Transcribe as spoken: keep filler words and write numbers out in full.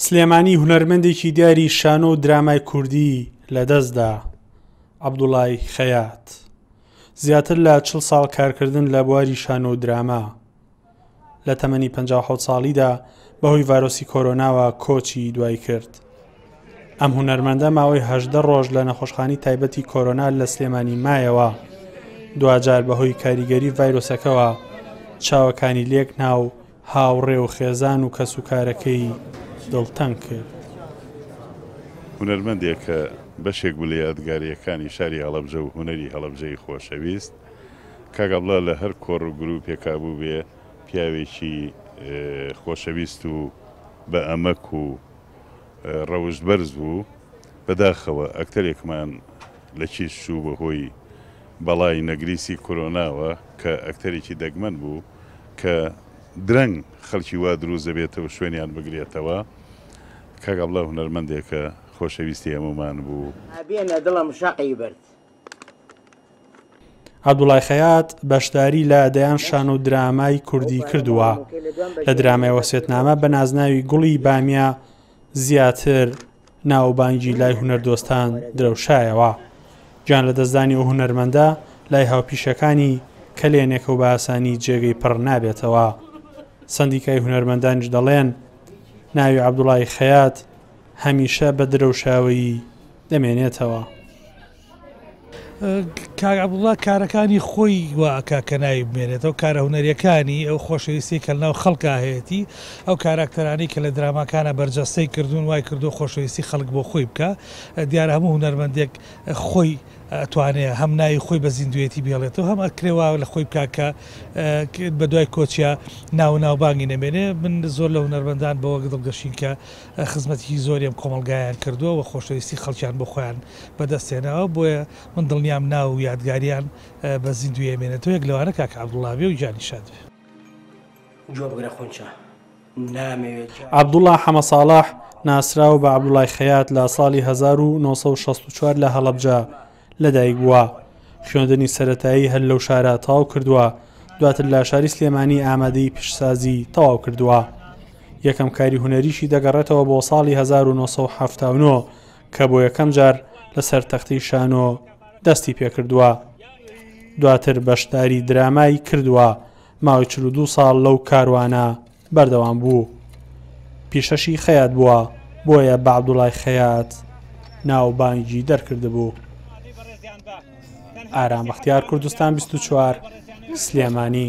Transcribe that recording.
سلێمانی هونەرمەندێکی دیاری شانۆ و درامای کوردی لەدەستدا، عەبدوڵای خەیات. زیاتر لە چل ساڵ کارکردن لە بواری شانۆ و دراما. لە تەمەنی پەنجا و حەوت ساڵیدا بەهۆی ڤایرۆسی کۆرۆناوە کۆچی دوای کرد. ئەم هونەرمەندە ماوەی هەژدە ڕۆژ لە نەخۆشخانەی تایبەتی کۆرۆنا لە سلێمانی مایەوە. دواجار بەهۆی کاریگەری ڤایرۆسەکەوە چاوەکانی لێک ناو هاوڕێ و خێزان و کەسوکارەکەی دڵتەنگ کرد. هونەرمەندێک کە بەشێک بوو لە یادگاریەکانی شاری هەڵەبجە و هونەری هەڵەبجەی خۆشەویست، کاک عەبدوڵا لە هەر کۆڕ و گروپێکا بوو بێ پیاوێکی خۆشەویست و بە ئەمەک و ڕەوشت بەرز بوو. بەداخەوە ئەکتەرێکمان لە کیش چوو بەهۆی بەڵای نەگریسی کۆرۆناوە کە ئەکتەرێکی دەگمەن بوو کە درەنگ خەڵکی وا دروست دەبێتەوە شوێنیان بگرێتەوە. کاک عەبدوڵا هونەرمەندێکە خۆشەویستی هەمومان بوو. ئەبێنە دڵم شەقی برد. عەبدوڵای خەیات بەشداری لە دەیان شان و درامای کوردی کردووە. لە درامای وەسێتنامە بە نازناوی گوڵی بامیە زیاتر ناوبانگی لای هونەردۆستان درەوشایەوە. گیان لەدەستدانی ئەو هونەرمەندە لای هاوپیشەکانی کەلێنێکە و بە ئاسانی جێگەی پڕ نابێتەوە. سەندیکای هونەرمەندانیش دەڵێن ناوی عەبدوڵای خەیات هەمیشە بە درەوشاوەیی دەمێنێتەوە. کاک عەبدوڵا کارەکانی خۆی وا ئەکا کە ناوی بمێنێتەوە، کارە هونەریەکانی، ئەو خۆشەویستی کە لەناو خەڵکا هەیەتی، ئەو کاراکتەرانەی کە لە دراماکانە بەرجەستەی کردوون وای کردو خۆشەویستی خەڵک بۆ خۆی بکە. دیارە هەموو هونەرمەندێک خۆی ئەتوانێ هەم ناوی خۆی بە زیندوێتی بێڵێتەوە، هەم ئەکرێ وا لە خۆی بکا کە بە دوای کۆچیا ناو و ناوبانگی نەمێنێ. من زۆر لە هونەرمەندان بەوە دڵگەشین کە خزمەتێکی زۆری ئەم کۆمەڵگایان کردووە و خۆشەویستی خەڵکیان بۆ خۆیان بەدەستێناوە، بۆیە من دڵنیام ناو و یادگاریان بە زیندوی ئەمێنێتەوە. یەک لەوانە کاک عەبدوڵا بێ و گیانی شاد بێ. گوێ بگرە خونچە، نامەوێت. عەبدوڵا حەمە ساڵح ناسراو بە عەبدوڵای خەیات لە ساڵی هەزار و نۆ سەد و شەست و چوار لە هەڵەبجە لەدایک بووە. خوێندنی سەرەتایی هەر لەو شارە تەواو کردووە، دواتر لە شاری سلێمانی ئامادەی پیشسازی تەواو کردووە. یەکەم کاری هونەریشی دەگەڕێتەوە بۆ ساڵی هەزار و نۆ سەد و حەفتا و نۆ کە بۆ یەکەم جار لەسەر تەختەی شانۆ دەستی پێکردووە. دواتر بەشداری درامای کردووە، ماوەی چل و دوو ساڵ لەو کاروانە بەردەوام بوو. پیشەشی خەیات بووە، بۆیە بە عەبدوڵای خەیات ناوبانگی دەرکردبوو. ئارام بەختیار، کوردستان بیست و چوار، سلێمانی.